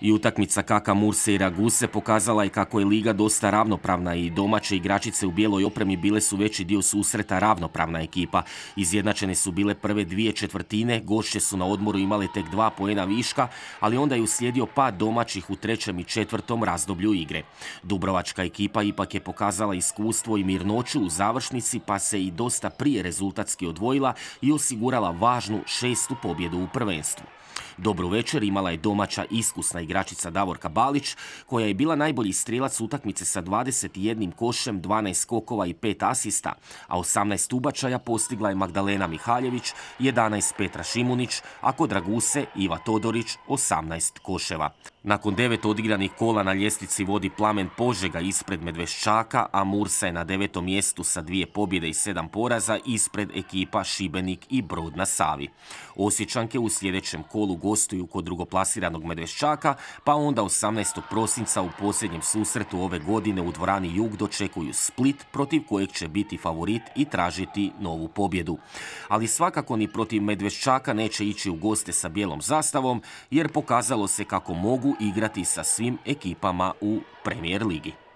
I utakmica KK Murse i Raguse pokazala je kako je liga dosta ravnopravna i domaće igračice u bijeloj opremi bile su veći dio susreta ravnopravna ekipa. Izjednačene su bile prve dvije četvrtine, gošće su na odmoru imale tek 2 poena viška, ali onda je uslijedio pad domaćih u trećem i četvrtom razdoblju igre. Dubrovačka ekipa ipak je pokazala iskustvo i mirnoću u završnici, pa se i dosta prije rezultatski odvojila i osigurala važnu 6. pobjedu u prvenstvu. Dobru večer imala je domaća iskusna igračica Davorka Balić, koja je bila najbolji strijelac utakmice sa 21 košem, 12 skokova i 5 asista, a 18 ubačaja postigla je Magdalena Mihaljević, 11 Petra Šimunić, a kod Raguse Iva Todorić 18 koševa. Nakon 9 odigranih kola na ljestvici vodi Plamen Požega ispred Medveščaka, a Mursa je na 9. mjestu sa 2 pobjede i 7 poraza ispred ekipa Šibenik i Brod na Savi. Osječanke u sljedećem kolu gostuju kod drugoplasiranog Medveščaka, pa onda 18. prosinca u posljednjem susretu ove godine u dvorani Jug dočekuju Split, protiv kojeg će biti favorit i tražiti novu pobjedu. Ali svakako ni protiv Medveščaka neće ići u goste sa bijelom zastavom, jer pokazalo se kako mogu igrati sa svim ekipama u Premier ligi.